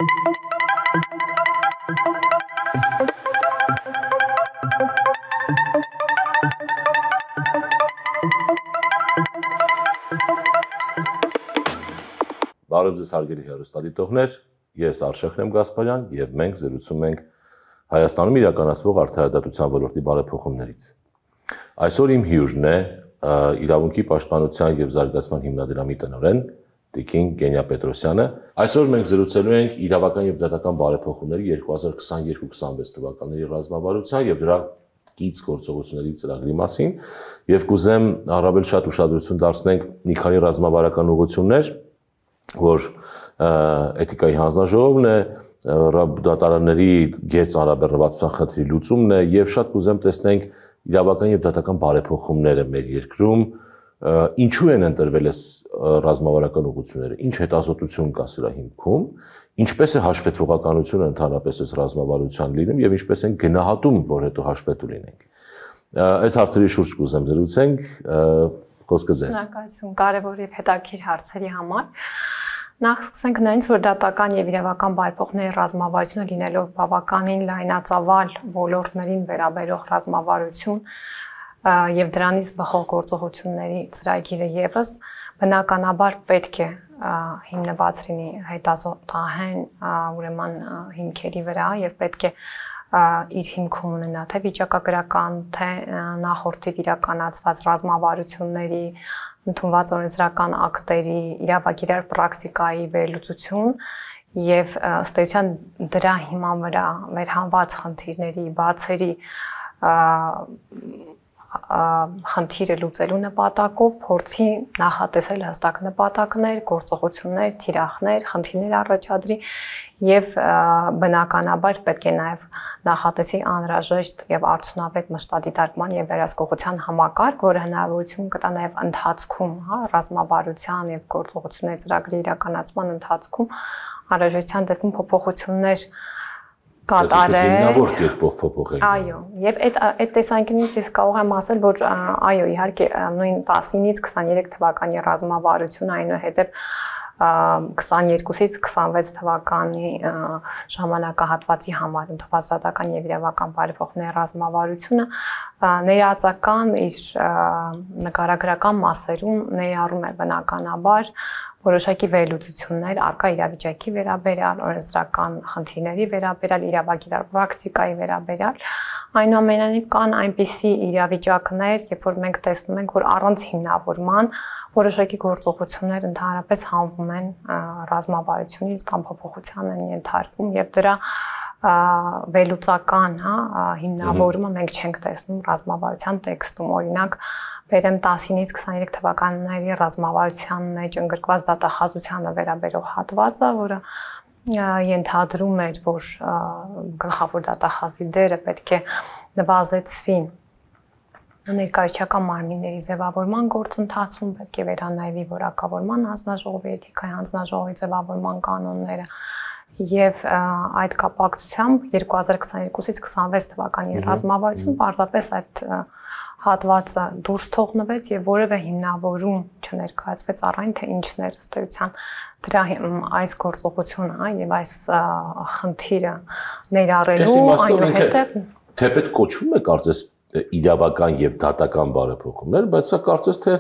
Բարև ձեզ հարգելի հեռուստադիտողներ, ես Արշակն եմ Գասպարյան եւ մենք զրուցում ենք Հայաստանում իրականացվող արդարադատության ոլորտի բարեփոխումներից։ Այսօր իմ հյուրն է Իրավունքի պաշտպանության եւ զարգացման հիմնադրամի տնօրեն Տիկին Գենիա Պետրոսյանը։ Այսօր մենք զրուցելու ենք իրավական եւ դատական բարեփոխումների 2022-26 թվականների ռազմավարության եւ դրա կից գործողությունների ծրագրի մասին եւ կուզեմ առավել շատ ուշադրություն դարձնենք մի քանի ռազմավարական ուղղություններ, որ էթիկայի հանձնաժողովն է, դատարանների գերծանրաբեռնվածության խնդրի լուծումն է եւ շատ կուզեմ տեսնենք իրավական եւ դատական բարեփոխումները մեր երկրում, ինչու են ընտրվել այս ռազմավարական ուղղությունները, ինչ հետազոտություն կա սրա հիմքում, ինչպես է հաշվետվողականությունը ընդհանրապես այս ռազմավարության լինում եւ ինչպես են գնահատում, որ հետո հաշվետու լինենք։ Այս հարցերի շուրջ կուզեմ զրուցենք, խոսքը ձեզ։ Շնորհակալություն կարևոր եւ հետաքրքիր հարցերի համար։ Նախ սկսենք նրանից, որ դատական եւ իրավական բարեփոխումների ռազմավարությունը լինելով բավականին լայնածավալ ոլորտներին վերաբերող ռազմավարություն եւ դրանից բխող գործողությունների ծրագիրը եւս բնականաբար պետք է հիմնված լինի հետազոտահեն ուրեմն հիմքերի վրա եւ պետք է իր հիմքում ունենա թե վիճակագրական, թե նախորդիվ իրականացված ռազմավարությունների, ընդունված օրենսդրական ակտերի, իրավագիտար պրակտիկայի վերլուծություն եւ ըստ էության դրա հիման վրա վերհանված խնդիրների, բացերի խնդիրը լուծելու նպատակով փորձի նախատեսել հստակ նպատակներ, գործողություններ, թիրախներ, խնդիրներ առաջադրի եւ բնականաբար պետք է նաեւ նախատեսի անհրաժեշտ եւ արդյունավետ մշտադիտարկման եւ վերահսկողության համակարգ, որը հնարավորություն կտա նաեւ ընթացքում, ռազմավարության եւ գործողությունների ծրագրի իրականացման ընթացքում անհրաժեշտության դեպքում փոփոխություններ կատարել։ Հիմնավոր կերպով փոփոխել։ Այո, եւ այդ տեսանկյունից ես կարող եմ ասել, որ այո, իհարկե նույն 19-ից 23 թվականի ռազմավարությունը այնուհետև 22-ից 26 թվականի ժամանակահատվածի համար ընդունված դատական եւ իրավական բարեփոխումների ռազմավարությունը ներածական իր նկարագրական մասերում ներառում է բնականաբար որոշակի վերլուծություններ արկա իրավիճակի վերաբերյալ, օրենսդրական խնդիրների վերաբերյալ, իրավագիտար պրակտիկայի վերաբերյալ, այնուամենայնիվ կան այնպիսի իրավիճակներ, երբ որ մենք տեսնում ենք, որ առանց հիմնավորման որոշակի գործողություններ ընդհանրապես հանվում են ռազմավարությունից կամ փոփոխության են ենթարկվում եւ դրա վերլուծական, հիմնավորումը մենք չենք տեսնում ռազմավարության տեքստում, օրինակ բերեմ 19-ից 23 թվականների ռազմավարության մեջ ընդգրկված դատախազությանը վերաբերող հատվածը, որը ենթադրում էր, որ գլխավոր դատախազի դերը պետք է նվազեցվի ներկայացական մարմինների ձևավորման գործընթացում, պետք է վերանայվի որակավորման հանձնաժողովի, էթիկայի հանձնաժողովի ձևավորման կանոնները եւ այդ կապակցությամբ 2022-ից 26 թվականի ռազմավարություն պարզապես այդ հատվածը դուրս թողնվեց եւ որևէ հիմնավորում չներկայացվեց առայն թե ինչն էր ըստ էության դրա այս գործողությունը եւ այս խնդիրը ներառելու այնուհետեւ թեպետ կոչվում է կարծես իրավական եւ դատական բարեփոխումներ, բայց սա կարծես թե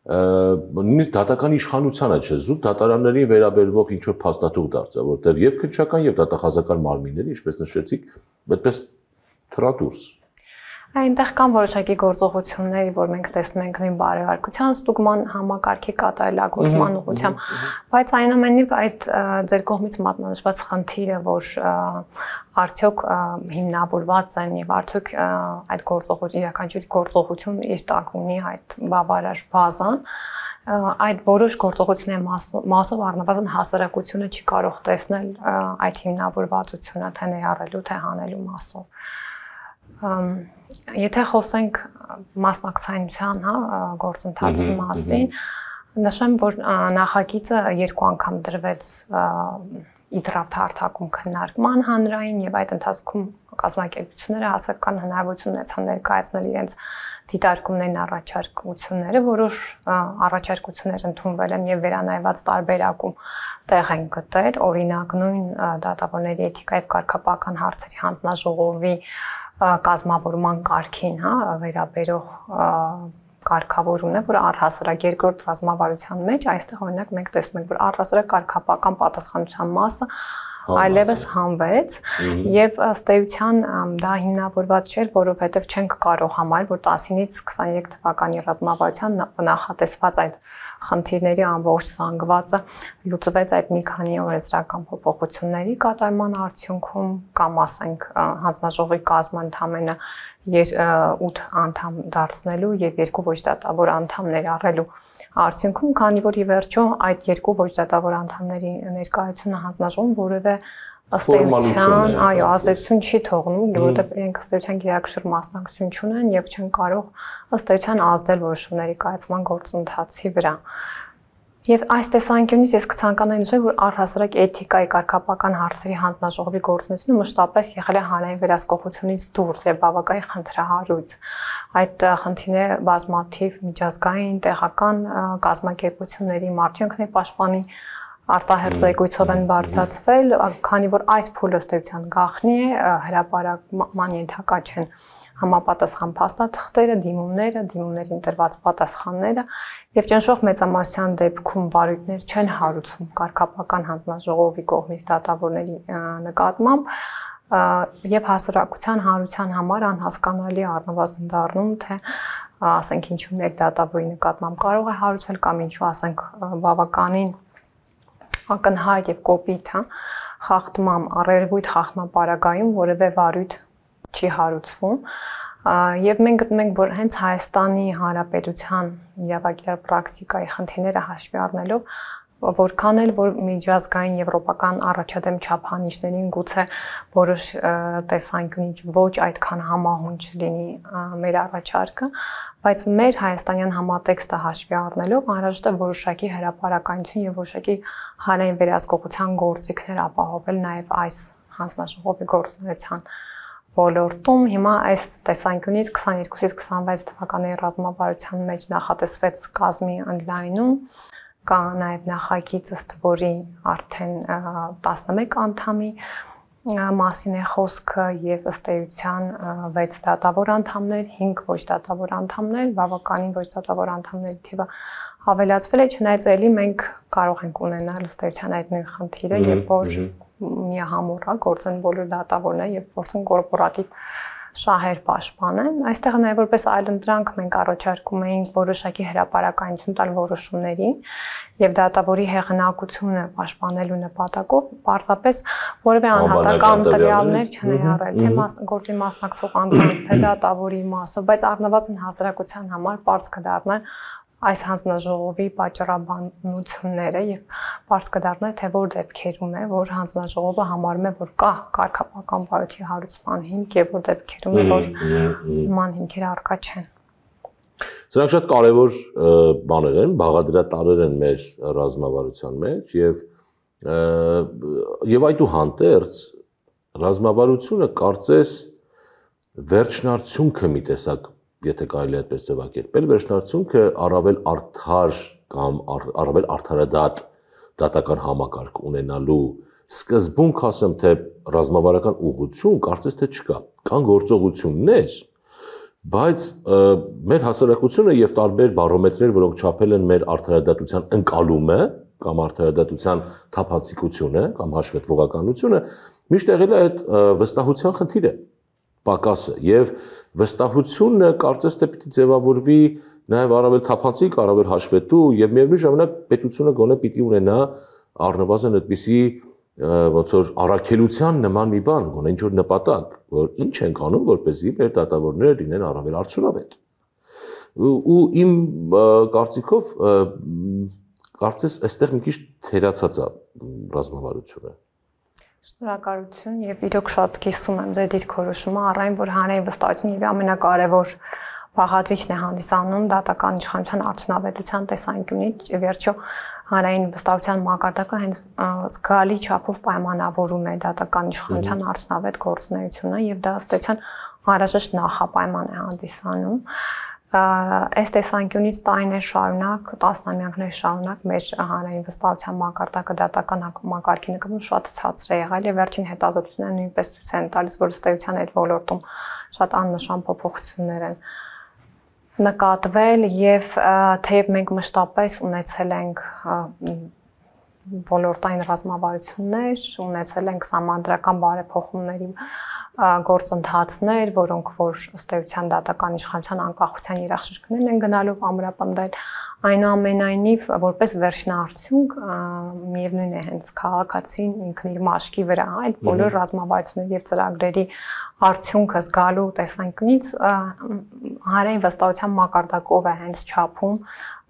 նույնիսկ դատական իշխանությանը չէ, զուտ դատարաններին վերաբերվող ինչ որ փաստաթուղթ դարձա, որտեղ եւ քննչական եւ դատախազական մարմինները, ինչպես նշեցիք, այդպես թրադուրս։ Այնտեղ կան որոշակի գործողություններ, որ մենք տեսնում ենք նույն բարեհարկության ստուգման համակարգի կատարելագործման ուղղությամբ, բայց այնուամենայնիվ այդ ձեր կողմից մատնանշված խնդիրը, որ արդյոք հիմնավորված են եւ արդյոք այդ իրականացիոն գործողություն իր տակ ունի այդ բավարար բազան, այդ որոշ գործողությունների մասով առնվազն հասարակությունը չի կարող տեսնել այդ հիմնավորվածությունը թե ներառելու թե հանելու մասով։ Եթե խոսենք մասնակցայնության, գործընթացի մասին, նշեմ, որ նախագիծը 2 անգամ դրվեց իդրավ թարթակում քննարկման հանրային եւ այդ ընթացքում կազմակերպությունները հասարակական հնարավորություն ունեցան ներկայացնել իրենց դիտարկումներն, առաջարկությունները, որոշ առաջարկություններ ընդունվել են եւ վերանայված տարբերակում տեղ են գտել, օրինակ նույն դատավորների էթիկայի եւ կարգապահական հարցերի հանձնաժողովի կազմավորման կարգին, վերաբերող կարգավորումն է, որ առհասարակ երկրորդ ռազմավարության մեջ այստեղ օրինակ մենք տեսնում ենք, որ առհասարակ կարգապահական պատասխանատվության մասը այլևս հանվեց եւ ըստ էության դա հիմնավորված չէր, որովհետեւ չենք կարող համարել, որ 19-ից 23 թվականի ռազմավարության նախատեսված այդ խնդիրների ամբողջ զանգվածը լուծվեց այդ մի քանի օրենսդրական փոփոխությունների կատարման արդյունքում կամ ասենք հանձնաժողովի կազմը ընդամենը 8 անդամ դարձնելու եւ 2 ոչ դատավոր անդամ ներառելու արդյունքում, քանի որ ի վերջո այդ 2 ոչ դատավոր անդամների ներկայությունը հանձնաժողովում որևէ ըստ էության, այո, ազդեցություն չի թողնում, որովհետեւ իրենք ըստ էության գերակշռ մասնակցություն չունեն եւ չեն կարող ըստ էության ազդել որոշումների կայացման գործընթացի վրա։ Եվ այս տեսանկյունից ես կցանկանայի նշել, որ առհասարակ էթիկայի կարգապահական հարցերի հանձնաժողովի գործունեությունը մշտապես եղել է հանրային վերահսկողությունից դուրս եւ բավականին խնդրահարույց։ Այդ խնդիրները բազմաթիվ միջազգային, տեղական կազմակերպությունների, Մարդու պաշտպանի արտահերձ զեկույցով են բարձրացվել, քանի որ այս փուլը ըստ էության գաղտնի է, հրապարակման ենթակա չեն համապատասխան փաստաթղթերը, դիմումներին տրված պատասխանները եւ ճնշող մեծամասնության դեպքում վարույթներ չեն հարուցվում կարգապահական հանձնաժողովի կողմից դատավորների նկատմամբ եւ հասարակության հանրության համար անհասկանալի առնվազն դառնում թե ասենք ինչու մեկ դատավորի նկատմամբ կարող է հարուցվել կամ ինչու ասենք բավականին ակնհայտ եւ կոպիտ, խախտման, առերևույթ խախտմապարագայում որևէ վարույթ չի հարուցվում եւ մենք գտնում ենք, որ հենց Հայաստանի Հանրապետության իրավագիտար պրակտիկայի խնդիրները հաշվի առնելով որքան էլ որ միջազգային եվրոպական առաջադեմ չափանիշներին գուցե որոշ տեսանկյունից ոչ այդքան համահունչ լինի մեր առաջարկը, բայց մեր հայաստանյան համատեքստը հաշվի առնելով անհրաժեշտ է որոշակի հրապարակայնություն եւ որոշակի հանրային վերահսկողության գործիքներ ապահովել նաեւ այս հանձնաժողովի գործունեության ոլորտում։ Հիմա այս տեսանկյունից 22-ից 26 թվականի ռազմավարության մեջ նախատեսվեց կազմի ընդլայնում կա նաև նախագիծ, ըստ որի արդեն 11 անդամի մասին է խոսքը եւ ըստ էության 6 դատավոր անդամներ, 5 ոչ դատավոր անդամներ, բավականին ոչ դատավոր անդամների թիվը ավելացվել է, չնայած էլի մենք կարող ենք ունենալ ըստ էության այդ նույն խնդիրը, երբ որ միահամուռ է գործեն բոլոր դատավորները եւ փորձեն կորպորատիվ շահեր պաշտպանեն։ Այստեղ նաև որպես այլընտրանք մենք առաջարկում էինք որոշակի հրապարակայնություն տալ որոշումների եւ դատավորի հեղինակությունը պաշտպանելու նպատակով պարզապես որևէ անհատական տվյալներ չներառել, թե գործի մասնակցող անձանց, թե դատավորի մասով, բայց առնվազն հասարակության համար պարզ կդառնան այս հանձնաժողովի պատճառաբանությունները եւ բարձ կդառնա թե որ դեպքերում է որ հանձնաժողովը համարում է որ կա կարգապահական վարույթի հարուցման հիմք եւ որ դեպքերում է որ նման հիմքեր առկա չեն։ Սրանք շատ կարևոր բաներ են, բաղադրատարեր են մեր ռազմավարության մեջ եւ այդուհանդերձ ռազմավարությունը կարծես վերջնարդյունքը մի տեսակ եթե կարելի է այդպես ձևակերպել, վերջնարդյունքը առավել արդար կամ առավել արդարադատ դատական համակարգ ունենալու սկզբունք ասեմ թե ռազմավարական ուղղություն կարծես թե չկա։ Կան գործողություններ, բայց մեր հասարակությունը եւ տարբեր բարոմետրեր, որոնք չափել են մեր արդարադատության ընկալումը կամ արդարադատության թափանցիկությունը կամ հաշվետվողականությունը, միշտ եղել է այդ վստահության խնդիրը, պակասը եւ վստահությունը կարծես թե պիտի ձևավորվի նաև առավել թափանցիկ, առավել հաշվետու եւ միևնույն ժամանակ պետությունը գոնե պիտի ունենա առնվազն այդպիսի ոնց որ առաքելության նման մի բան, գոնե ինչ որ նպատակ, որ ինչ ենք անում, որպեսզի մեր դատավորները լինեն առավել արդյունավետ։ Ու իմ կարծիքով կարծես այստեղ մի քիչ թերացած է ռազմավարությունը։ Շնորհակալություն եւ իրոք շատ կիսում եմ ձեր դիրքորոշումը առայն որ հանրային վստահություն եւ ամենակարևոր բաղադրիչն է հանդիսանում դատական իշխանության արդյունավետության տեսանկյունից, վերջո հանրային վստահության մակարդակը հենց զգալի չափով պայմանավորում է դատական իշխանության արդյունավետ գործունեությունը եւ դա ըստ էության անհրաժեշտ նախապայման է հանդիսանում։ Այս տեսանկյունից տարիներ շարունակ, տասնամյակներ շարունակ մեր հանրային վստահության մակարդակը դատական համակարգի նկատմամբ շատ ցածր է եղել եւ վերջին հետազոտությունները նույնպես ցույց են տալիս, որ ըստ էության այդ ոլորտում շատ աննշան փոփոխություններ են նկատվել եւ թեև մենք մշտապես ունեցել ենք ոլորտային ռազմավարություններ, ունեցել ենք համանդրական բարեփոխումների գործընթացներ, որոնք որ ըստ էության դատական իշխանության անկախության երաշխիքներն են գնալով ամրապնդել, այնուամենայնիվ որպես վերջնարդյունք միևնույն է հենց քաղաքացին ինքն իր մաշկի վրա այդ բոլոր ռազմավարությունների եւ ծրագրերի արդյունքը զգալու տեսանկյունից հանրային վստահության մակարդակով է հենց չափում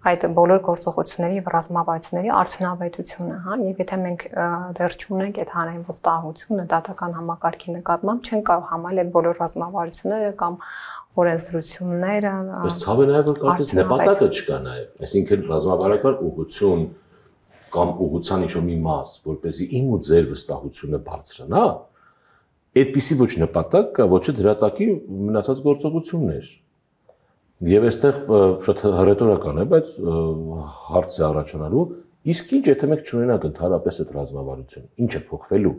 այդ բոլոր գործողությունների եւ ռազմավարությունների արդյունավետությունը, հա, եւ եթե մենք դեռ չունենք այդ հանրային վստահությունը դատական համակարգի նկատմամբ, չեն կարող համարել այդ բոլոր ռազմավարությունները կամ օրենսդրությունները։ Բայց ցավը նաեւ որ կարծես նպատակը չկա նաեւ, այսինքն ռազմավարական ուղղություն կամ ուղղության ինչ-որ մի մաս, որպեսզի իմ ու ձեր վստահությունը բարձրանա, այդպիսի ոչ նպատակ կա, ոչ էլ դրատակի մնացած գործողություններ։ Եվ այստեղ շատ հռետորական է, բայց հարց է առաջանալու, իսկ ինչ եթե մենք չունենանք ընդհանրապես այդ ռազմավարություն, ինչ է փոխվելու։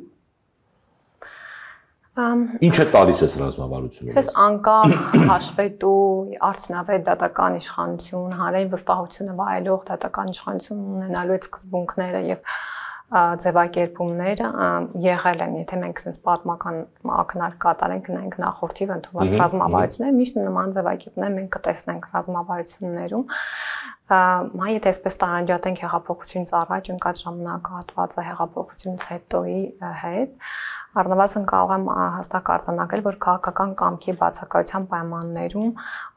Ինչ է տալիս այս ռազմավարությունը։ Ես անկախ հաշվետու արդյունավետ դատական իշխանություն, հանրային վստահությունը վայելող դատական իշխանություն ունենալու այդ սկզբունքները եւ ձևակերպումները եղել են, եթե մենք sense պատմական ակնարկ կատարենք, նայենք նախորդիվ ընդունված ռազմավարությունները, միշտ նման ձևակերպումներ մենք կտեսնենք ռազմավարություններում։ Մայ եթե այսպես տարանջատենք հեղափոխությունից առաջ ընկած ժամանակահատվածը հեղափոխությունից հետոյի հետ, առնվազն կարող եմ հստակ արձանագրել, որ քաղաքական կամքի բացակայության պայմաններում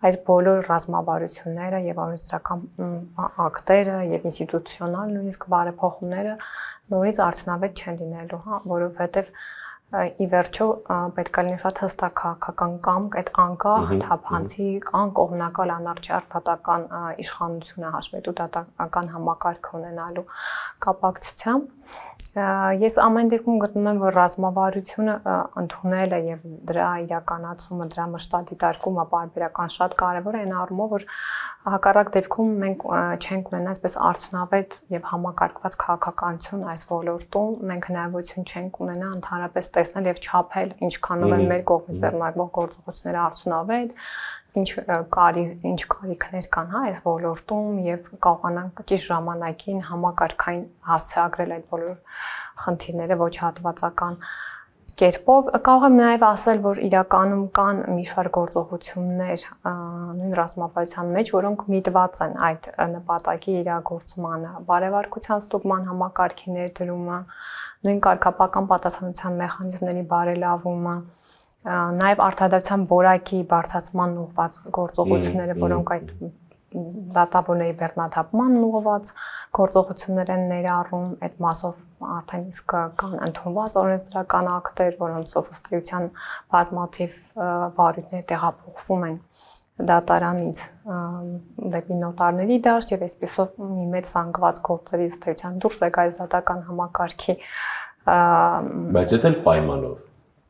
այս բոլոր ռազմավարությունները եւ օրենսդրական ակտերը եւ ինստիտուցիոնալ նույնիսկ բարեփոխումները նորից արդյունավետ չեն լինելու, հա, որովհետեւ ի վերջո պետք է լինի շատ հստակ քաղաքական կամք, այդ անկախ, թափանցիկ, անկողմնակալ անարդար դատական իշխանությունը հաշվետու դատական համակարգ ունենալու կապակցությամբ ես ամեն դեպքում գտնում եմ, որ ռազմավարությունը ընդունելը եւ դրա իրականացումը, դրա մշտադիտարկումը պարբերական շատ կարեւոր է այն առումով, որ հակառակ դեպքում մենք չենք ունենա այսպես արդյունավետ եւ համակարգված քաղաքականություն այս ոլորտում, մենք հնարավորություն չենք ունենա ընդհանրապես տեսնել եւ չափել ինչքանով են մեր կողմից ձեռնարկվող գործողությունները արդյունավետ, ինչ կարիքներ կան, հա, այս ոլորտում եւ կարողանանք ճիշտ ժամանակին համակարգային հասցեագրել այդ բոլոր խնդիրները ոչ հատվածական կերպով։ Կարող եմ նաեւ ասել, որ իրականում կան մի շարք գործողություններ նույն ռազմավարության մեջ, որոնք միտված են այդ նպատակի իրագործմանը, բարեվարկության ստուգման համակարգի ներդրումը, նույն կարգապահական պատասխանատվության մեխանիզմների բարելավումը, նաև արտադրության որակի բարձրացման ուղղված գործողությունները, որոնք այդ դատավորների բեռնաթափման ուղղված գործողություններ են ներառում, այդ մասով արդեն իսկ կան ընդունված օրենսդրական ակտեր, որոնցով ըստ էության բազմաթիվ վարույթներ տեղափոխվում են դատարանից դեպի նոտարների դաշտ եւ այսպեսով մի մեծ զանգված գործերի ըստ էության դուրս է գալիս դատական համակարգի բայց դա էլ պայմանով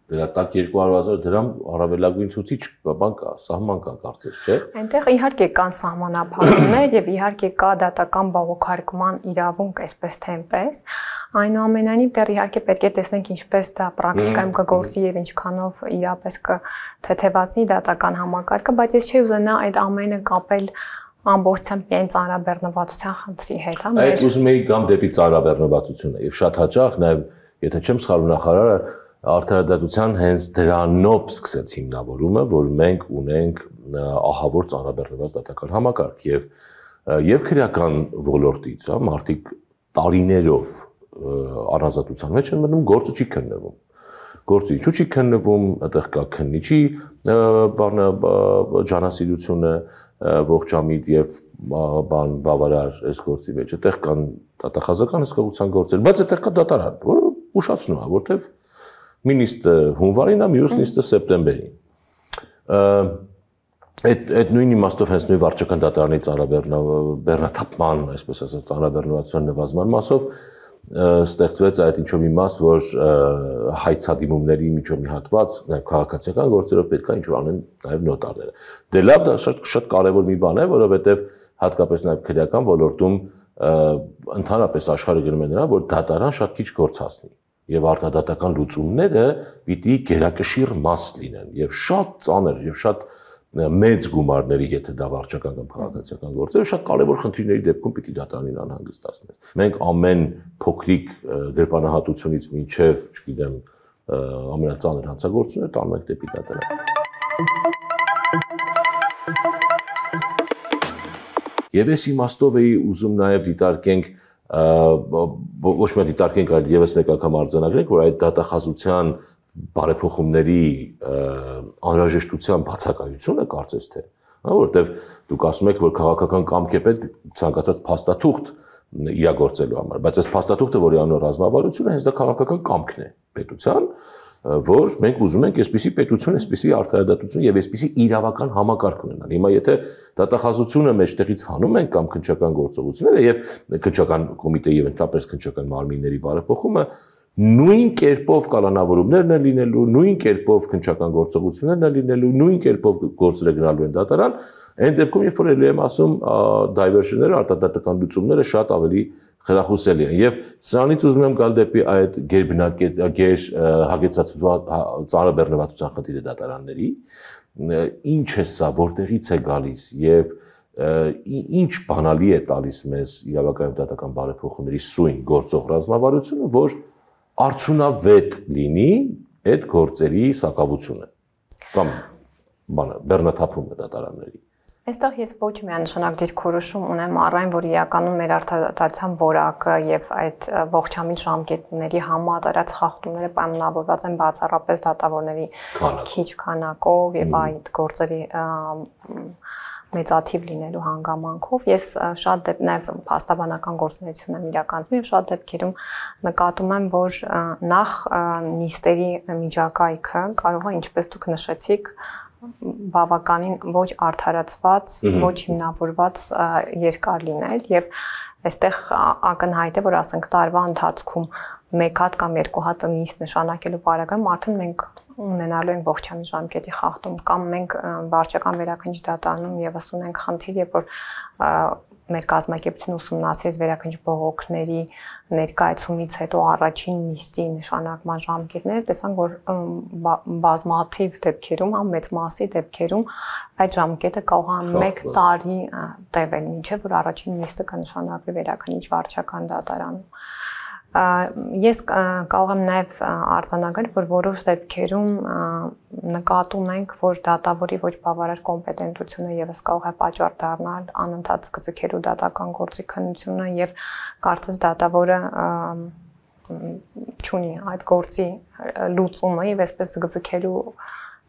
դրա տակ 200,000 դրամ առավելագույն ցուցիչ բան կա, սահման կա կարծես, չէ՞։ Այնտեղ իհարկե կան սահմանափակումներ եւ իհարկե կա դատական բողոքարկման իրավունք, այսպես թե այնպես։ Այնուամենայնիվ դեռ իհարկե պետք է տեսնենք ինչպես դա պրակտիկայում կգործի եւ ինչքանով իրապես կթեթևացնի դատական համակարգը, բայց ես չի ուզենա այդ ամենը կապել ամբողջությամբ միայն ծանրաբեռնվածության խնդրի հետ, հա։ Այդ ուզում էի գամ դեպի ծանրաբեռնվածությունը եւ շատ հաճախ նաեւ եթե չեմ սխալվում նախարարը արդարադատության հենց դրանով սկսեց հիմնավորումը, որ մենք ունենք ահավոր ծանրաբեռնված դատական համակարգ եւ քրեական ոլորտից, հա, մարդիկ տարիներով առանձնատության մեջ են մնում, գործը չի քննվում։ Գործը ինչու չի քննվում, այդտեղ կա քննիչի բանը ջանասիրությունը ողջամիտ եւ բավարար այս գործի մեջ, այդտեղ կան դատախազական հսկողության գործեր, բայց այդտեղ կա դատարան, որը ուշացնում է, որտեվ մի նիստը հունվարին է, մյուս նիստը սեպտեմբերին։ Այդ նույն իմաստով հենց նույն վարչական դատարանի բեռնաթափման, այսպես ասած, ծանրաբեռնվածության նվազման մասով ստեղծվեց այդ ինչ-որ մի մաս, որ հայցադիմումների միջով մի հատված, նաև քաղաքացիական գործերով պետք է ինչ-որ անեն նաև նոտարները։ Դե լավ, դա շատ կարևոր մի բան է, որովհետև հատկապես նաև քրեական ոլորտում ընդհանրապես աշխարհը գնում է նրան, որ դատարան շատ քիչ գործ հասնի եւ արտադատական լուծումները պիտի գերակշիռ մաս լինեն եւ շատ ծանր եւ շատ մեծ գումարների, եթե դա վարչական կամ քաղաքացիական գործեր, շատ կարևոր խնդիրների դեպքում պիտի դատարանին անհանգստացնեն։ Մենք ամեն փոքրիկ գրպանահատությունից մինչև, չգիտեմ, ամենածանր հանցագործությունը տանում ենք դեպի դատարան։ Եվ այս իմաստով էի ուզում նաև դիտարկենք, ոչ միայն դիտարկենք, այլ եւս մեկ անգամ արձանագրենք, որ այդ դատախազության բարեփոխումների անհրաժեշտության բացակայությունը կարծես թե, որովհետև դուք ասում եք, որ քաղաքական կամք է պետք ցանկացած փաստաթուղթ իրագործելու համար, բայց այս փաստաթուղթը, որի անունը ռազմավարություն է, հենց դա քաղաքական կամքն է պետության, որ մենք ուզում ենք այսպիսի պետություն, այսպիսի արդարադատություն եւ այսպիսի իրավական համակարգ ունենալ։ Հիմա եթե դատախազությունը մեջտեղից հանում են կամ քննչական գործողությունները եւ քննչական կոմիտեի եւ ընդհանրապես քննչական մարմինների բարեփոխումը նույն կերպով կալանավորումներն են լինելու, նույն կերպով քննչական գործողություններն են լինելու, նույն կերպով գործերը գնալու են դատարան, այն դեպքում երբ որ ելի եմ ասում diversion-ները, արտադատական լուծումները շատ ավելի խրախուսելի են եւ սրանից ուզում եմ գալ դեպի այդ հագեցածված ծանրաբեռնվածության խնդիրը դատարանների, ինչ է սա, որտեղից է գալիս եւ ինչ բանալի է տալիս մեզ իրավական դատական բարեփոխումների սույն գործող ռազմավարությունը, որ արդյունավետ լինի այդ գործերի սակավությունը կամ բեռնաթափումը դատարանների։ Այստեղ ես ոչ միանշանակ դիրքորոշում ունեմ առայն, որ իրականում մեր արդարադատության որակը եւ այդ ողջամիտ ժամկետների համատարած խախտումները պայմանավորված են բացառապես դատավորների քիչ քանակով եւ այդ գործերի մեծաթիվ լինելու հանգամանքով ես շատ նաև փաստաբանական գործունեություն եմ իրականացնում եւ շատ դեպքերում նկատում եմ, որ նախ նիստերի միջակայքը կարող է, ինչպես դուք նշեցիք, բավականին ոչ արդարացված, ոչ հիմնավորված երկար լինել եւ այստեղ ակնհայտ է, որ ասենք տարվա ընթացքում մեկ հատ կամ երկու հատ նիստ նշանակելու պարագայում արդեն մենք ունենալու ենք ողջամիտ ժամկետի խախտում կամ մենք վարչական վերաքննիչ դատարանում եւս ունենք խնդիր, երբ որ մեր կազմակերպությունը ուսումնասիրեց վերաքննիչ բողոքների ներկայացումից հետո առաջին նիստի նշանակման ժամկետները, տեսանք, որ բազմաթիվ դեպքերում, մեծ մասի դեպքերում այդ ժամկետը կարող է 1 տարի տևել, մինչև որ առաջին նիստը կնշանակվի վերաքննիչ վարչական դատարանում։ Ես կարող եմ նաև արձանագրել, որ որոշ դեպքերում նկատում ենք, որ դատավորի ոչ բավարար կոմպետենտությունը եւս կարող է պատճառ դառնալ անընդհատ ձգձգելու դատական գործի քննությունը եւ կարծես դատավորը չունի այդ գործի լուծումը եւ այսպես ձգձգելու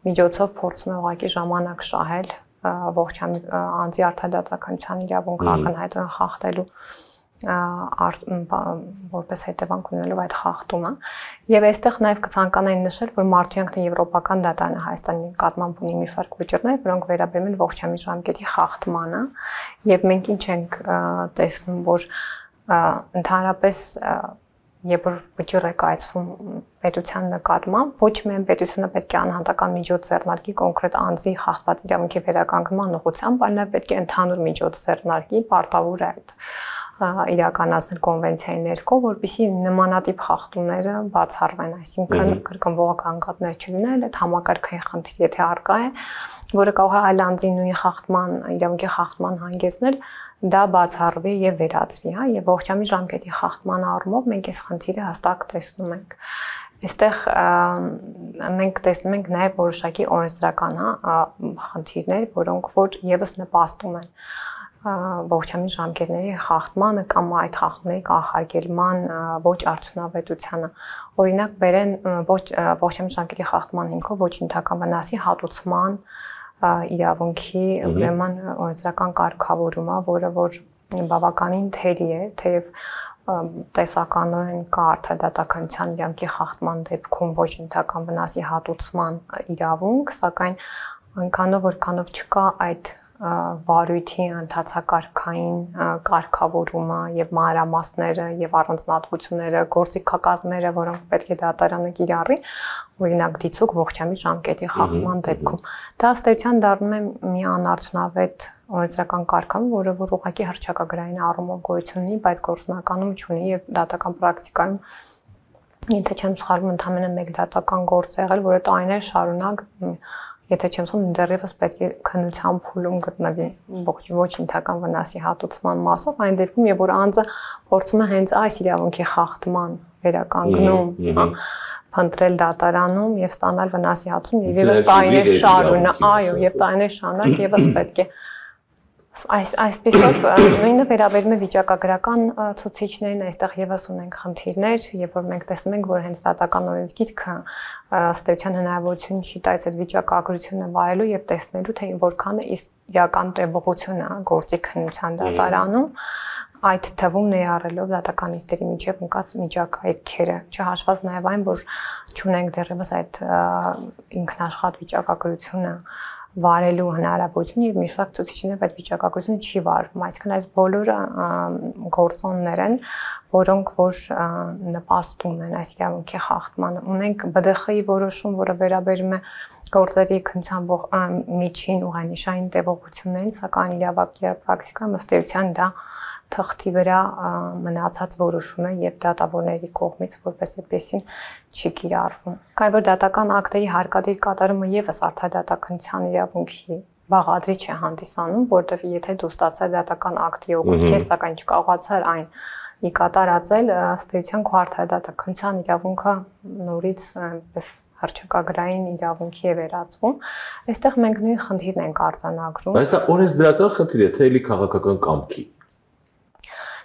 միջոցով փորձում է ուղղակի ժամանակ շահել ողջամիտ անձի արդարադատականության իրավունքը ակնհայտորեն խախտելու որպես հետևանք ունենալով այդ խախտումը եւ այստեղ նաեւ կցանկանայի նշել, որ Մարդույանքն եվրոպական դատարանը Հայաստանի նկատմամբ ունի մի շարք վճիռներ, որոնք վերաբերում են ողջամիտ ժամկետի խախտմանը եւ մենք ինչ ենք տեսնում, որ ընդհանրապես երբ որ վճիռ է կայացվում պետության նկատմամբ, ոչ միայն պետությունը պետք է անհատական միջոց ձեռնարկի կոնկրետ անձի խախտված իրավունքի վերականգնման ուղղությամբ, այլ նաեւ պետք է ընդհանուր միջոց ձեռնարկի, պարտավոր է այդ իրականացնել կոնվենցիայի ներքո, որպեսզի նմանատիպ խախտումները բացառվեն, այսինքն կրկնվող գանգատներ չլինեն, այդ համակարգային խնդիր եթե առկա է, որը կարող է այլ անձի նույն խախտման, իրավունքի խախտման հանգեցնել, դա բացառվի եւ վերացվի, եւ ողջամիտ ժամկետի խախտման առումով մենք այս խնդիրը հստակ տեսնում ենք։ Այստեղ մենք տեսնում ենք նաեւ որոշակի օրենսդրական խնդիրներ, որոնք որ եւս նպաստում են ողջամիտ ժամկետների խախտմանը կամ այդ խախտումների կանխարգելման ոչ արդյունավետությանը։ Օրինակ բերեն ողջամիտ ժամկետի խախտման հիմքով ոչ նյութական վնասի հատուցման իրավունքի ուրեմն օրենսդրական կարգավորումը, որը որ բավականին թերի է, թեև տեսականորեն կա արդարադատականության իրավունքի խախտման դեպքում ոչ նյութական վնասի հատուցման իրավունք, սակայն այնքանով որքանով չկա այդ վարույթի ընթացակարգային կարգավորումը եւ մանրամասները եւ առանձնահատկությունները, գործիքակազմերը, որոնք պետք է դատարանը կիրառի, օրինակ դիցուկ ողջամիտ ժամկետի խախտման դեպքում։ Դա ըստ էության դառնում է մի անարդյունավետ օրենսդրական կարգավորում, որը որ ուղղակի հռչակագրային առումով գոյություն ունի, բայց գործնականում չունի եւ դատական պրակտիկայում եթե չեմ սխալվում, ընդամենը մեկ դատական գործ է եղել, որը տարիներ շարունակ եթե չեմ սխալվում, դեռևս պետք է քննության փուլում գտնվի ոչ ինքնական վնասի հատուցման մասով, այն դեպքում, երբ որ անձը փորձում է հենց այս իրավունքի խախտման վերականգնում, փնտրել դատարանում եւ ստանալ վնասի հատուցում, եւ եւս տարիներ շարունակ, այո, եւ տարիներ շարունակ եւս պետք է Այսպիսով նույնը վերաբերում է վիճակագրական ցուցիչներին, այստեղ եւս ունենք խնդիրներ, երբ որ մենք տեսնում ենք, որ հենց դատական օրենսգիրքը ըստ էության հնարավորություն չի տալիս այդ վիճակագրությունը վարելու եւ տեսնելու, թե որքան է իրական տևողությունը գործի քննության դատարանում, այդ թվում ներառելով դատական նիստերի միջև ընկած միջակայքերը, չհաշված նաեւ այն, որ չունենք դեռևս այդ ինքնաշխատ վիճակագրությունը վարելու հնարավորություն եւ մի շարք ցուցիչներով այդ վիճակագրությունը չի վարվում, այսինքն այս բոլորը գործոններ են, որոնք որ նպաստում են այս իրավունքի խախտմանը։ Ունենք ԲԴԽ-ի որոշում, որը վերաբերում է գործերի քննության միջին ուղանիշային տևողություններին, սակայն իրավական պրակտիկայում ըստ էության դա թղթի վրա մնացած որոշում է եւ դատավորների կողմից որպես այդպեսին չի կիրառվում։ Կարևոր դատական ակտերի հարկադիր կատարումը եւս արդարադատականության իրավունքի բաղադրիչ է հանդիսանում, որտեղ եթե դու ստացար դատական ակտի օգուտ, սակայն չկարողացար այն ի կատարածել, ըստ էության քո արդարադատականության իրավունքը նորից այնպես հռչակագրային իրավունքի է վերածվում։ Այստեղ մենք նույն խնդիրն ենք արձանագրում։ Բայց դա օրենսդրական խնդիր է, թե էլի քաղաքական կամքի։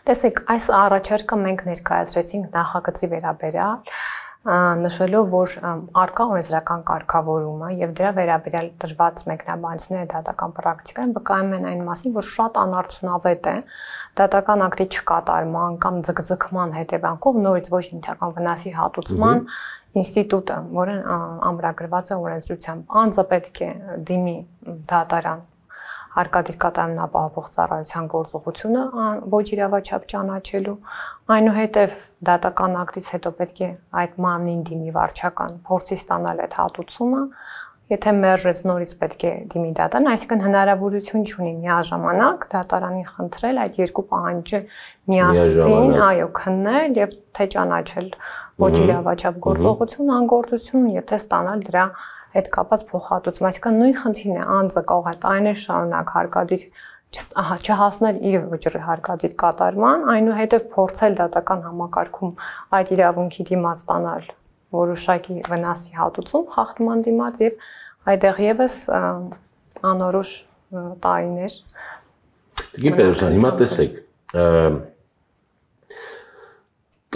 Տեսեք, այս առաջարկը մենք ներկայացրեցինք նախագծի վերաբերյալ, նշելով, որ արկա օրենսդրական կարգավորումը եւ դրա վերաբերյալ տրված մեկնաբանությունները դատական պրակտիկայում վկայում են այն մասին, որ շատ անարդյունավետ է դատական ակտի չկատարման կամ ձգձգման հետևանքով նորից ոչ ինքնական վնասի հատուցման ինստիտուտը, որը ամրագրված է օրենսդրությամբ, անձը պետք է դիմի դատարան հարկադիր կատարումն ապահովող ծառայության գործողությունը ոչ իրավաչափ ճանաչելու, այնուհետև դատական ակտից հետո պետք է այդ մարմնին դիմի վարչական փորձի ստանալ այդ հատուցումը, եթե մերժեց նորից պետք է դիմի դատարան, այսինքն հնարավորություն չունի միաժամանակ դատարանին խնդրել այդ երկու պահանջը միասին, այո, քննել եւ թե ճանաչել ոչ իրավաչափ գործողություն, անգործություն եւ թե ստանալ դրա հետ կապած փոխհատուցում, այսինքն նույն խնդիրն է, անձը կարող է տարիներ շարունակ հարկադիր չհասնել իր վճռի հարկադիր կատարման, այնուհետև փորձել դատական համակարգում այդ իրավունքի դիմաց ստանալ որոշակի վնասի հատուցում, խախտման դիմաց եւ այդտեղ եւս անորոշ տարիներ։ Տիկին Պետրոսյան, հիմա տեսեք,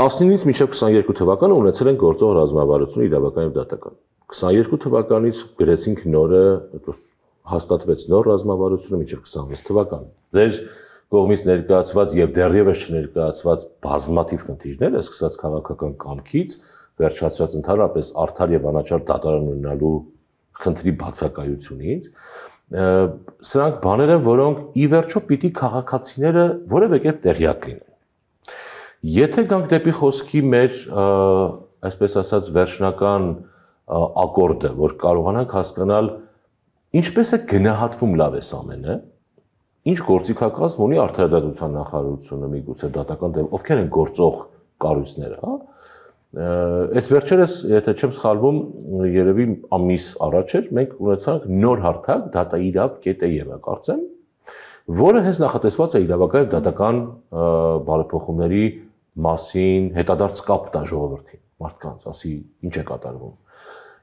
19-ից մինչև 22 թվականը ունեցել են գործող ռազմավարություն իրավական եւ դատական։ 22 թվականից գրեցինք նորը, հաստատվեց նոր ռազմավարությունը մինչև 26 թվական։ Ձեր կողմից ներկայացված եւ դեռևս չներկայացված բազմաթիվ խնդիրներ, սկսած քաղաքական կամքից, վերջացած ընդհանրապես արդար եւ անաչառ դատարան ունենալու խնդրի բացակայությունից, սրանք բաներ են, որոնք ի վերջո պիտի քաղաքացիները որևէ կերպ տեղյակ լինեն։ Եթե գանք դեպի խոսքի մեր, այսպես ասած, վերջնական ակորդը, որ կարողանանք հասկանալ ինչպես է գնահատվում լավ էս ամենը, ինչ գործիքակազմ ունի արդարադատության նախարարությունը, միգուցե դատական դեպքում, ովքեր են գործող կառույցները, հա։ Այս վերջերս, եթե չեմ սխալվում, երևի ամիս առաջ էր, մենք ունեցանք նոր հարթակ datairav.am-ը, կարծեմ, որը հենց նախատեսված է իրավական եւ դատական բարեփոխումների մասին հետադարձ կապ տա ժողովրդին, մարդկանց, ասի ինչ է կատարվում։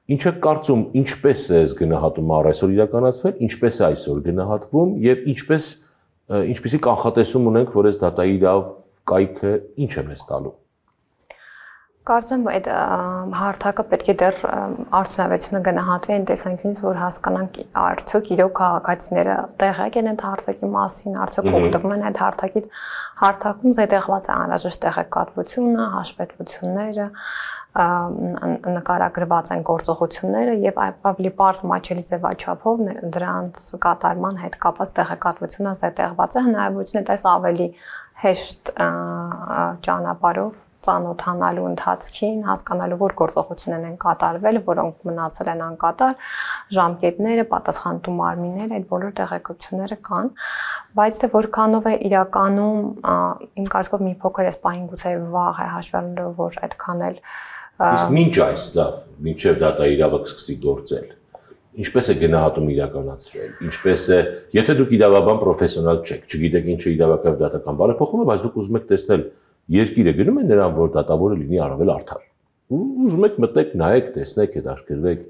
Ինչ է կարծում, ինչպես է այս գնահատումը այսօր իրականացվել, ինչպես է այսօր գնահատվում եւ ինչպեսի կանխատեսում ունենք, որ այս datairav կայքը ինչ է մեզ տալու։ Կարծեմ, այդ հարթակը պետք է դեռ արդյունավետությունը գնահատվի այն տեսանկյունից, որ հասկանանք արդյոք իրոք քաղաքացիները տեղյակ են այդ հարթակի մասին, արդյոք օգտվում են այդ հարթակից, հարթակում զետեղված է անհրաժեշտ տեղեկատվությունը, հաշվետվությունները, նկարագրված են գործողությունները եւ ավելի բարձ մատչելի ձևաչափով դրանց կատարման հետ կապված տեղեկատվությունը զետեղված է հնարավորություն է տես ավելի հեշտ ճանապարհով ծանոթանալու ընթացքին, հասկանալու որ գործողություններ են կատարվել, որոնք մնացել են անկատար, ժամկետները, պատասխանատու մարմինները, այդ բոլոր տեղեկությունները կան, բայց թե որքանով է իրականում իմ կարծիքով մի փոքր էս պահին գուցե վաղ է հաշվի առնելով, որ այդքան էլ իսկ մինչ այս դա, մինչև դատա իրավունք սկսի գործել, ինչպես է գնահատում իրականացվել, ինչպես է, եթե դուք իրավաբան պրոֆեսիոնալ չեք, չգիտեք ինչ է իրավական դատական բարեփոխումը, բայց դուք ուզում եք տեսնել երկիրը գնում է նրան, որ դատավորը լինի առավել արդար։ Ուզում եք մտեք, նայեք, տեսնեք, հետաքրքրվեք։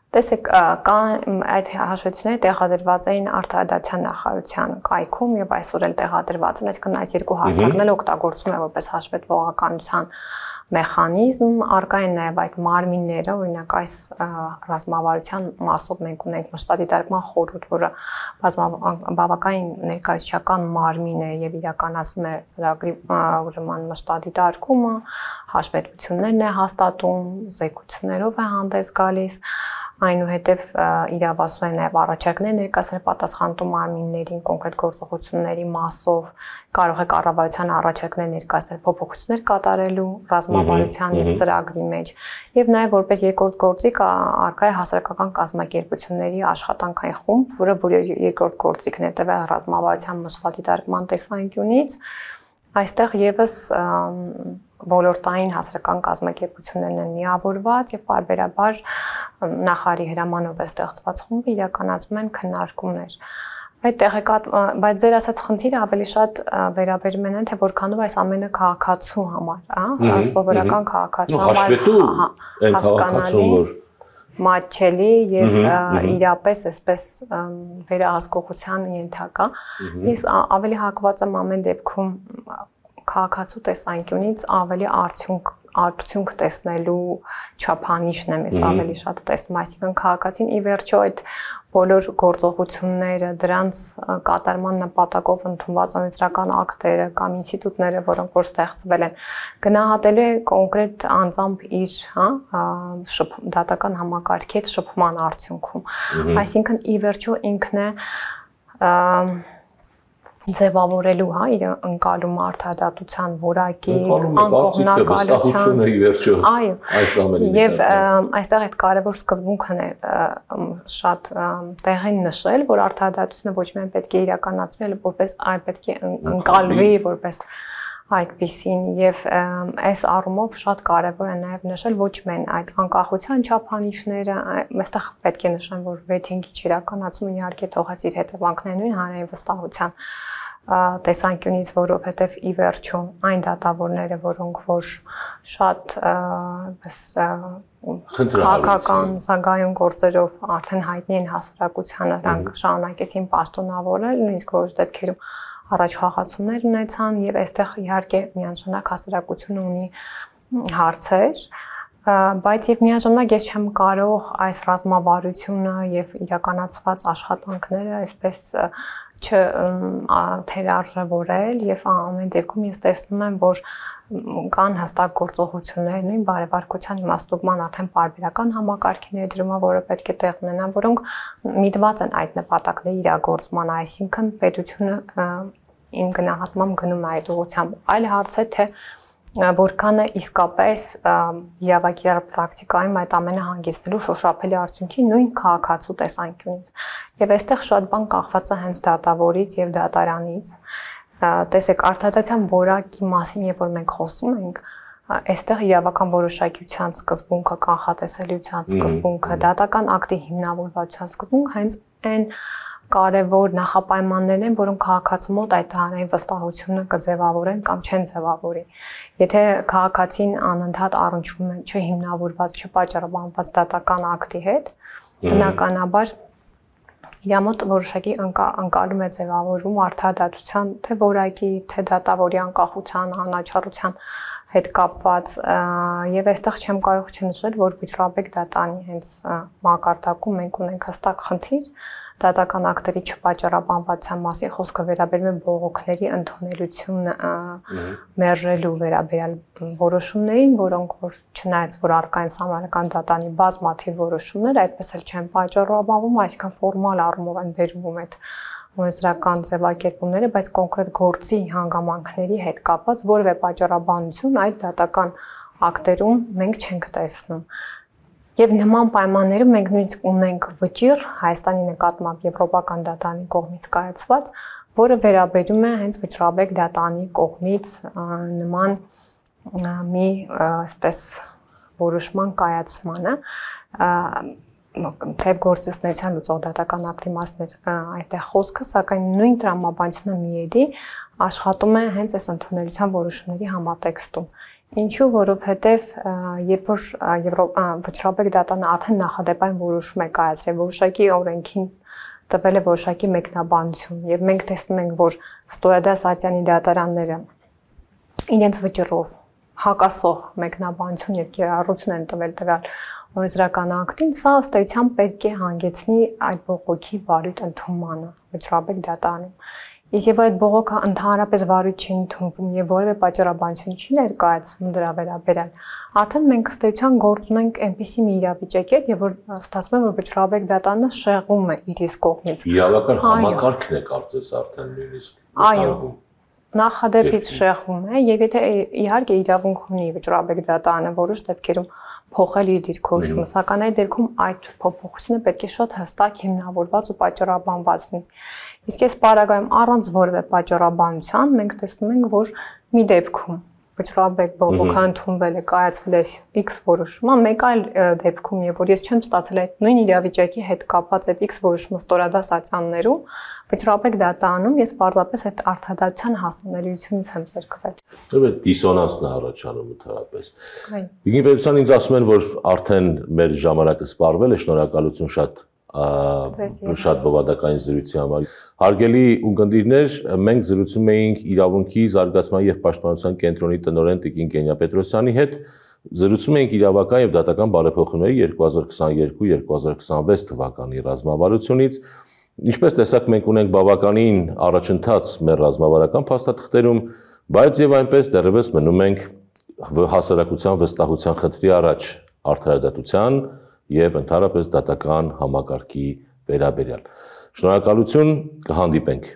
Տեսեք, կան այդ հաշվետվությունները տեղադրված էին Արտադրության նախարարության կայքում եւ այսօր էլ տեղադրված են, այսինքն այս երկու հարթակն էլ օգտագործում է որպես հաշվետվողականության մեխանիզմ, արկա են նաև այդ մարմինները, օրինակ այս ռազմավարության մասով մենք ունենք մշտադիտարկման խորհուրդ, որը բավականին ներկայացչական մարմին է եւ իրականացնում է ծրագրի ուրեմն մշտադիտարկումը, հաշվետվություններն է հաստատում, զեկույցներով է հանդես գալիս, այնուհետև իրավասու է նաև առաջարկներ ներկայացնել պատասխանատու մարմիններին կոնկրետ գործողությունների մասով, կարող է կառավարության առաջարկներ ներկայացնել փոփոխություններ կատարելու ռազմավարության եւ ծրագրի մեջ եւ նաև որպես երկրորդ գործիք արկա է հասարակական կազմակերպությունների աշխատանքային խումբ, որը երկրորդ գործիքն է տվել ռազմավարության մշտադիտարկման տեսանկյունից, այստեղ եւս ոլորտային հասարակական կազմակերպություններն են միավորված եւ պարբերաբար նախարարի հրամանով է ստեղծված խումբը իրականացում են քննարկումներ։ Բայց ձեր ասած խնդիրը ավելի շատ վերաբերում են թե որքանով այս ամենը քաղաքացու համար, սովորական քաղաքացու համար հասկանալի, մատչելի եւ իրապես այսպես վերահսկողության ենթակա։ Ես ավելի հակված եմ ամեն դեպքում քաղաքացու տեսանկյունից ավելի արդյունք տեսնելու չափանիշն եմ ես ավելի շատ տեսնում, այսինքն քաղաքացին ի վերջո այդ բոլոր գործողությունները, դրանց կատարման նպատակով ընդունված օրենսդրական ակտերը կամ ինստիտուտները, որոնք որ ստեղծվել են, գնահատելու է կոնկրետ անձամբ իր, դատական համակարգի հետ շփման արդյունքում։ Այսինքն ի վերջո ինքն է ձևավորելու իր ընկալումը արդարադատության որակի, անկողմնակալության, եւ այստեղ այդ կարևոր սկզբունքն է շատ տեղին նշել, որ արդարադատությունը ոչ միայն պետք է իրականացվի, այլ որպես այլ պետք է ընկալվի որպես այդպիսին եւ այս առումով շատ կարեւոր է նաեւ նշել ոչ միայն այդ անկախության չափանիշները, այստեղ պետք է նշեմ, որ վեթինգի իրականացումը իհարկե թողած իր հետևանքներն են հանրային վստահության տեսանկյունից, որովհետև ի վերջո այն դատավորները, որոնք որ շատ քաղաքական զարգայուն գործերով արդեն հայտնի են հասարակությանը, նրանք շարունակեցին պաշտոնավորել, նույնիսկ որոշ դեպքերում առաջ խաղացումներ ունեցան եւ այստեղ իհարկե միանշանակ հասարակությունը ունի հարցեր, բայց եւ միաժամանակ ես չեմ կարող այս ռազմավարությունը եւ իրականացված աշխատանքները այսպես չթերարժևորել եւ ամեն դեպքում ես տեսնում եմ, որ կան հստակ գործողություններ, նույն բարեվարկության իմաստովման արդեն պարբերական համակարգի ներդրումը, որը պետք է տեղ ունենան, որոնք միտված են այդ նպատակների իրագործման, այսինքն պետությունը իմ գնահատմամբ գնում է այդ ուղղությամբ։ Այլ հարց է, թե որքանը իսկապես իրավական պրակտիկայում այդ ամենը հանգեցնելու շոշափելի արդյունքի նույն քաղաքացու տեսանկյունից։ Եվ այստեղ շատ բան կախված է հենց դատավորից եւ դատարանից։ Տեսեք, արդարադատության որակի մասին, երբ որ մենք խոսում ենք, այստեղ իրավական որոշակիության սկզբունքը, կանխատեսելիության սկզբունքը, դատական ակտի հիմնավորվածության սկզբունքը հենց այն կարևոր նախապայմաններն են, որոնք քաղաքացու մոտ այդ հանրային վստահությունը կձևավորեն կամ չեն ձևավորի։ Եթե քաղաքացին անընդհատ առնչվում է չհիմնավորված, չպատճառաբանված դատական ակտի հետ, բնականաբար իր մոտ որոշակի ընկալում է ձևավորվում արդարադատության թե որակի, թե դատավորի անկախության, անաչառության հետ կապված եւ այստեղ չեմ կարող չնշել, որ Վիճռաբեկ դատանի հենց մակարդակում մենք ունենք հստակ խնդիր, դատական ակտերի չպատճառաբանվածության մասին խոսքը վերաբերում է բողոքների ընդունելությունը մերժելու վերաբերյալ որոշումներին, որոնք որ չնայած որ առկա են Սահմանադրական դատանի բազմաթիվ որոշումներ, այդպես էլ չեն պատճառաբանվում, այսինքն ֆորմալ առումով են բերվում այդ օրենսդրական ձևակերպումները, բայց կոնկրետ գործի հանգամանքների հետ կապված որևէ պատճառաբանություն այդ դատական ակտերում մենք չենք տեսնում։ Եվ նման պայմաններում մենք նույնիսկ ունենք վճիռ Հայաստանի նկատմամբ Եվրոպական դատանի կողմից կայացված, որը վերաբերում է հենց վճռաբեկ դատանի կողմից նման մի այսպես որոշման կայացմանը, թեև գործիչնության լուծող դատական ակտի մասն է այդտեղ խոսքը, սակայն նույն տրամաբանությունը միեդի աշխատում է հենց այս ընդունելության որոշումների համատեքստում։ Ինչու, որովհետև երբ որ վճռաբեկ դատանը արդեն նախադեպային որոշում է կայացրել, որոշակի օրենքին տվել է որոշակի մեկնաբանություն, եւ մենք տեսնում ենք, որ Ստոյադաս Ատյանի դատարանները իրենց վճռով հակասող մեկնաբանություն եւ կիրառություն են տվել տվյալ օրենսդրական ակտին, սա ըստ էության պետք է հանգեցնի այդ բողոքի վարույթ ընդունմանը վճռաբեկ դատարանում։ Իսկ այդ բողոքը ընդհանրապես վարույթ չի ընդունվում եւ որևէ պատճառաբանություն չի ներկայացվում դրա վերաբերյալ, արդեն մենք ըստ էության գործ ունենք այնպիսի մի իրավիճակի հետ, եւ որ ստացվում է, որ վճռաբեկ դատանը շեղում է իր իսկ կողմից։ Իրավական համակարգն է կարծես արդեն նույնիսկ։ Այո, նախադեպից շեղվում է եւ եթե իհարկե իրավունք ունի վճռաբեկ դատանը որոշ դեպքերում փոխել իր դիրքորոշումը, սակայն այդ դեպքում այդ փոփոխությունը պետք է շատ հստակ հիմնավորված ու պատճառաբանված լինի։ Իսկ այս պարագայում առանց որևէ պատճառաբանության մենք տեսնում ենք, որ մի դեպքում վճռաբեկ բողոքը ընդունվել է, կայացվել է X որոշումը, մեկ այլ դեպքում, եւ որ ես չեմ ստացել այդ նույն իրավիճակի հետ կապված այդ X որոշումը Ստորադաս Ատյաններում, վճռաբեկ դատանում ես պարզապես այդ արդարադատության հասանելիությունից եմ զրկվել։ Այդ դիսոնանսն է առաջանում ընդհանրապես։ Իգին պետության ինձ ասում են, որ արդեն մեր ժամանակը սպառվել է, շնորհակալություն շատ բովանդակային զրույցի համար։ Հարգելի ունկնդիրներ, մենք զրուցում էինք իրավունքի զարգացման եւ պաշտպանության կենտրոնի տնօրեն Տիկին Կենյա Պետրոսյանի հետ, զրուցում էինք իրավական եւ դատական բարեփոխումների 2022-2026 թվականի ռազմավարությունից։ Ինչպես տեսակ, մենք ունենք բավականին առաջընթաց մեր ռազմավարական փաստաթղթերում, բայց եւ այնպես դեռևս մնում ենք հասարակության վստահության խնդրի առաջ արդարադատության եւ ընդհանրապես դատական համակարգի վերաբերյալ։ Շնորհակալություն, կհանդիպենք։